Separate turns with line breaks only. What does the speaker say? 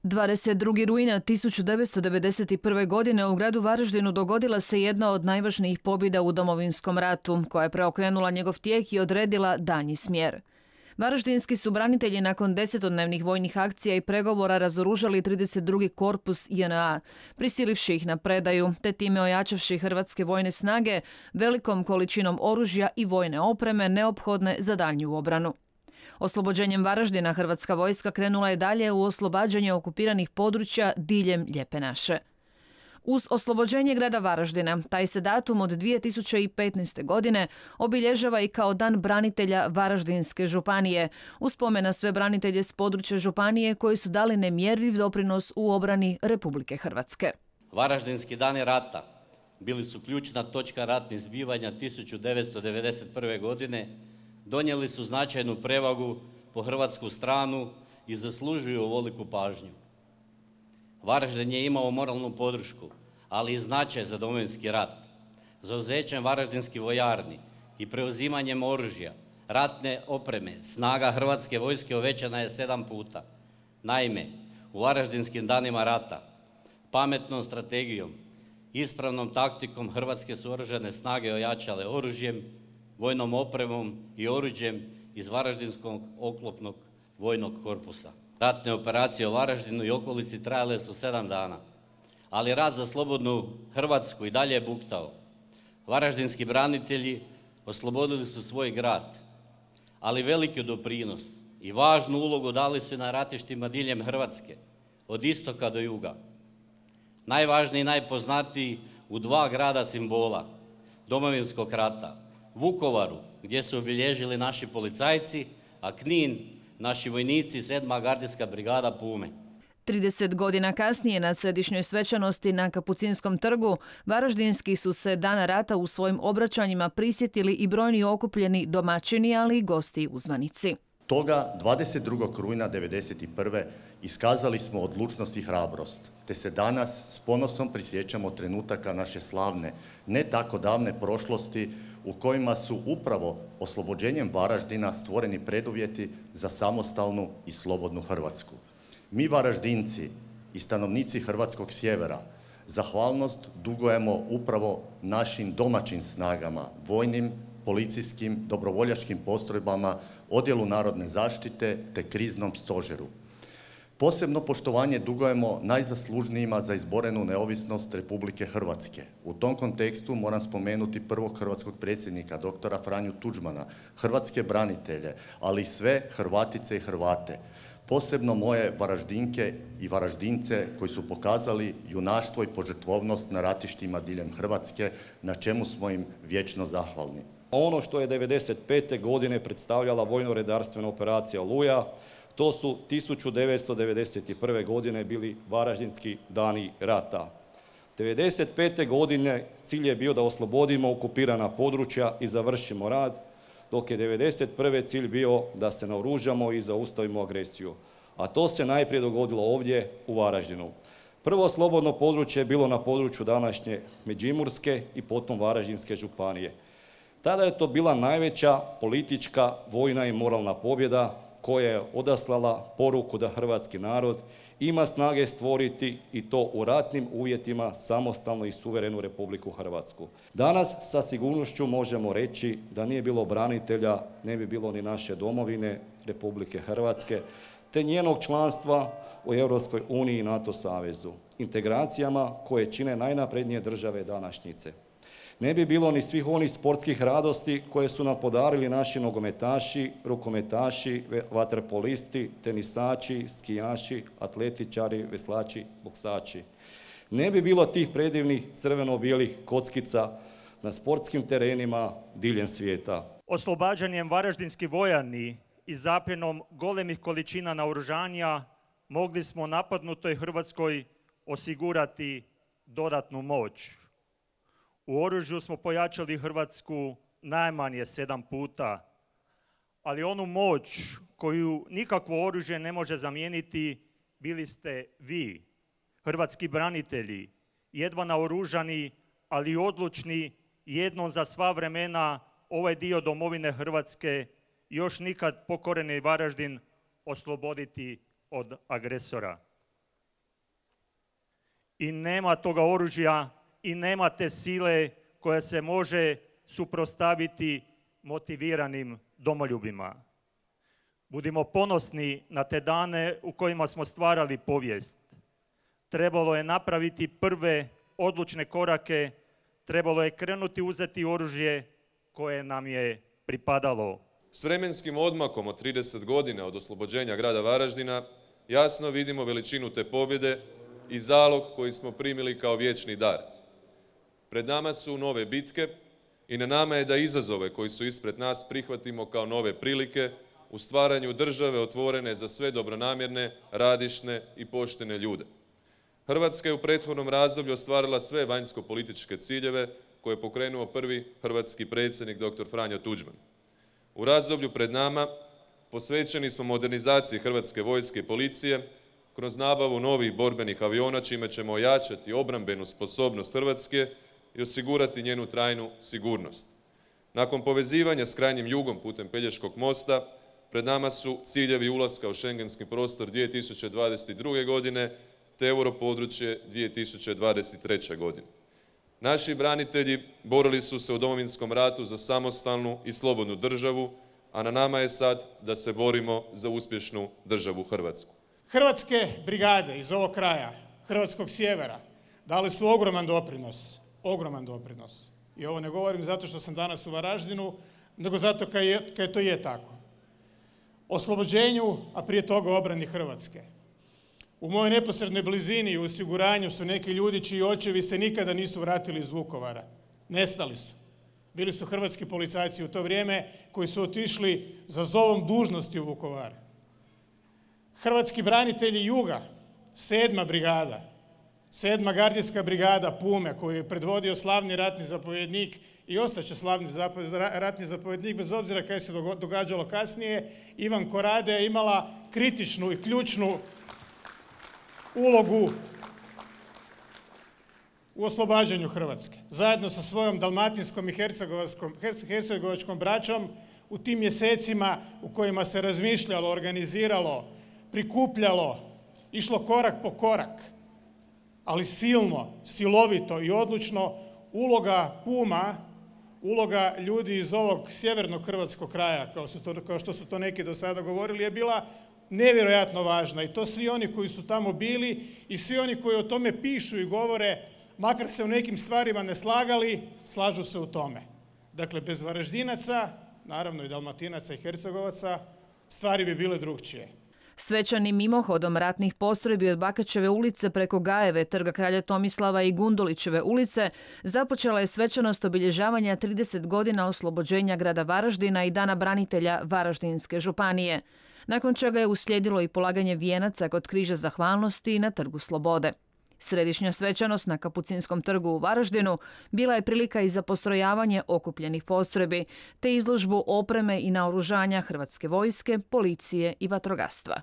22. rujna 1991. godine u gradu Varaždinu dogodila se jedna od najvažnijih pobjeda u Domovinskom ratu, koja je preokrenula njegov tijek i odredila daljnji smjer. Varaždinski su branitelji nakon 10-dnevnih vojnih akcija i pregovora razoružali 32. korpus JNA, prisilivši ih na predaju, te time ojačavši hrvatske vojne snage velikom količinom oružja i vojne opreme neophodne za daljnju obranu. Oslobođenjem Varaždina hrvatska vojska krenula je dalje u oslobađanje okupiranih područja diljem Lijepe naše. Uz oslobođenje grada Varaždina, taj se datum od 2015. godine obilježava i kao Dan branitelja Varaždinske županije, u spomen na sve branitelje s područja županije koji su dali nemjerljiv doprinos u obrani Republike Hrvatske.
Varaždinski dani rata bili su ključna točka ratnih zbivanja 1991. godine, donijeli su značajnu prevagu po hrvatsku stranu i zaslužuju ovoliku pažnju. Varaždin je imao moralnu podršku, ali i značaj za Domovinski rat. Zauzećem varaždinskih vojarni i preuzimanjem oružja, ratne opreme, snaga hrvatske vojske uvećana je 7 puta. Naime, u Varaždinskim danima rata, pametnom strategijom, ispravnom taktikom hrvatske su oružane snage ojačale oružjem, vojnom opremom i oruđem iz Varaždinskog oklopnog vojnog korpusa. Ratne operacije u Varaždinu i okolici trajale su 7 dana, ali rat za slobodnu Hrvatsku i dalje je buktao. Varaždinski branitelji oslobodili su svoj grad, ali veliki doprinos i važnu ulogu dali su na ratištima diljem Hrvatske, od istoka do juga. Najvažniji i najpoznatiji u 2 grada simbola Domovinskog rata, Vukovaru, gdje su obilježili naši policajci, a Knin, naši vojnici, 7. gardijska brigada Pume.
30 godina kasnije na središnjoj svečanosti na Kapucinskom trgu, varaždinski su se dana rata u svojim obraćanjima prisjetili i brojni okupljeni domaćini, ali i gosti i uzvanici.
Toga 22. rujna 1991. iskazali smo odlučnost i hrabrost, te se danas s ponosom prisjećamo trenutaka naše slavne, ne tako davne prošlosti u kojima su upravo oslobođenjem Varaždina stvoreni preduvjeti za samostalnu i slobodnu Hrvatsku. Mi Varaždinci i stanovnici hrvatskog sjevera zahvalnost dugujemo upravo našim domaćim snagama, vojnim, policijskim, dobrovoljačkim postrojbama, odjelu narodne zaštite te kriznom stožeru. Posebno poštovanje dugujemo najzaslužnijima za izborenu neovisnost Republike Hrvatske. U tom kontekstu moram spomenuti prvog hrvatskog predsjednika, doktora Franju Tuđmana, hrvatske branitelje, ali i sve Hrvatice i Hrvate. Posebno moje Varaždinke i Varaždince koji su pokazali junaštvo i požrtvovnost na ratištima diljem Hrvatske, na čemu smo im vječno zahvalni.
Ono što je 1995. godine predstavljala vojno-redarstvena operacija Oluja, to su 1991. godine bili Varaždinski dani rata. 1995. godine cilj je bio da oslobodimo okupirana područja i završimo rad, dok je 1991. cilj bio da se naoružamo i zaustavimo agresiju. A to se najprije dogodilo ovdje u Varaždinu. Prvo slobodno područje je bilo na području današnje Međimurske i potom Varaždinske županije. Tada je to bila najveća politička, vojna i moralna pobjeda koja je odaslala poruku da hrvatski narod ima snage stvoriti i to u ratnim uvjetima samostalnu i suverenu Republiku Hrvatsku. Danas sa sigurnošću možemo reći da nije bilo branitelja, ne bi bilo ni naše domovine Republike Hrvatske, te njenog članstva u Europskoj uniji i NATO savezu, integracijama koje čine najnaprednije države današnjice. Ne bi bilo ni svih onih sportskih radosti koje su nam podarili naši nogometaši, rukometaši, vaterpolisti, tenisači, skijaši, atletičari, veslači, boksači. Ne bi bilo tih predivnih crveno-bijelih kockica na sportskim terenima diljem svijeta.
Oslobađanjem varaždinskih vojarni i zapljenom golemih količina naoružanja mogli smo napadnutoj Hrvatskoj osigurati dodatnu moć. U oružju smo pojačali Hrvatsku najmanje 7 puta, ali onu moć koju nikakvo oružje ne može zamijeniti bili ste vi, hrvatski branitelji, jedva naoružani, ali odlučni, jednom za sva vremena ovaj dio domovine Hrvatske, još nikad pokoreni Varaždin, osloboditi od agresora. i nema toga oružja i nema te sile koja se može suprotstaviti motiviranim domoljubima. Budimo ponosni na te dane u kojima smo stvarali povijest. Trebalo je napraviti prve odlučne korake, trebalo je krenuti uzeti oružje koje nam je pripadalo.
S vremenskim odmakom od 30 godina od oslobođenja grada Varaždina jasno vidimo veličinu te pobjede i zalog koji smo primili kao vječni dar. Pred nama su nove bitke i na nama je da izazove koji su ispred nas prihvatimo kao nove prilike u stvaranju države otvorene za sve dobronamjerne, radišne i poštene ljude. Hrvatska je u prethodnom razdoblju ostvarila sve vanjsko-političke ciljeve koje je pokrenuo prvi hrvatski predsjednik dr. Franjo Tuđman. U razdoblju pred nama posvećeni smo modernizaciji Hrvatske vojske i policije kroz nabavu novih borbenih aviona, čime ćemo ojačati obrambenu sposobnost Hrvatske i osigurati njenu trajnu sigurnost. Nakon povezivanja s krajnjim jugom putem Pelješkog mosta, pred nama su ciljevi ulaska u šengenski prostor 2022. godine te europodručje 2023. godine. Naši branitelji borili su se u Domovinskom ratu za samostalnu i slobodnu državu, a na nama je sad da se borimo za uspješnu državu Hrvatsku.
Hrvatske brigade iz ovog kraja, Hrvatskog sjevera, dali su ogroman doprinos. I ovo ne govorim zato što sam danas u Varaždinu, nego zato kad to je tako. Oslobođenju, a prije toga obrani Hrvatske. U mojoj neposrednoj blizini i osiguranju su neki ljudi čiji očevi se nikada nisu vratili iz Vukovara. Nestali su. Bili su hrvatski policajci u to vrijeme koji su otišli za zovom dužnosti u Vukovar. Hrvatski branitelji Juga, 7. brigada, 7. gardijska brigada Pume koju je predvodio slavni ratni zapovjednik i ostaće slavni ratni zapovjednik bez obzira kaj se događalo kasnije, Ivan Korade je imala kritičnu i ključnu ulogu u oslobađanju Hrvatske. Zajedno sa svojom dalmatinskom i hercegovačkom braćom u tim mjesecima u kojima se razmišljalo, organiziralo, prikupljalo, išlo korak po korak, ali silno, silovito i odlučno, uloga Puma, uloga ljudi iz ovog sjevernog hrvatskog kraja, kao što su to neki do sada govorili, je bila nevjerojatno važna. I to svi oni koji su tamo bili i svi oni koji o tome pišu i govore, makar se u nekim stvarima ne slagali, slažu se u tome. Dakle, bez Varaždinaca, naravno i Dalmatinaca i Hercegovaca, stvari bi bile drukčije.
Svečanim mimohodom ratnih postrojbi od Bakačeve ulice preko Gajeve, Trga kralja Tomislava i Gundulićeve ulice započela je svečanost obilježavanja 30 godina oslobođenja grada Varaždina i Dana branitelja Varaždinske županije, nakon čega je uslijedilo i polaganje vijenaca kod križa zahvalnosti na Trgu Slobode. Središnja svečanost na Kapucinskom trgu u Varaždinu bila je prilika i za postrojavanje okupljenih postrojbi, te izložbu opreme i naoružanja Hrvatske vojske, policije i vatrogastva.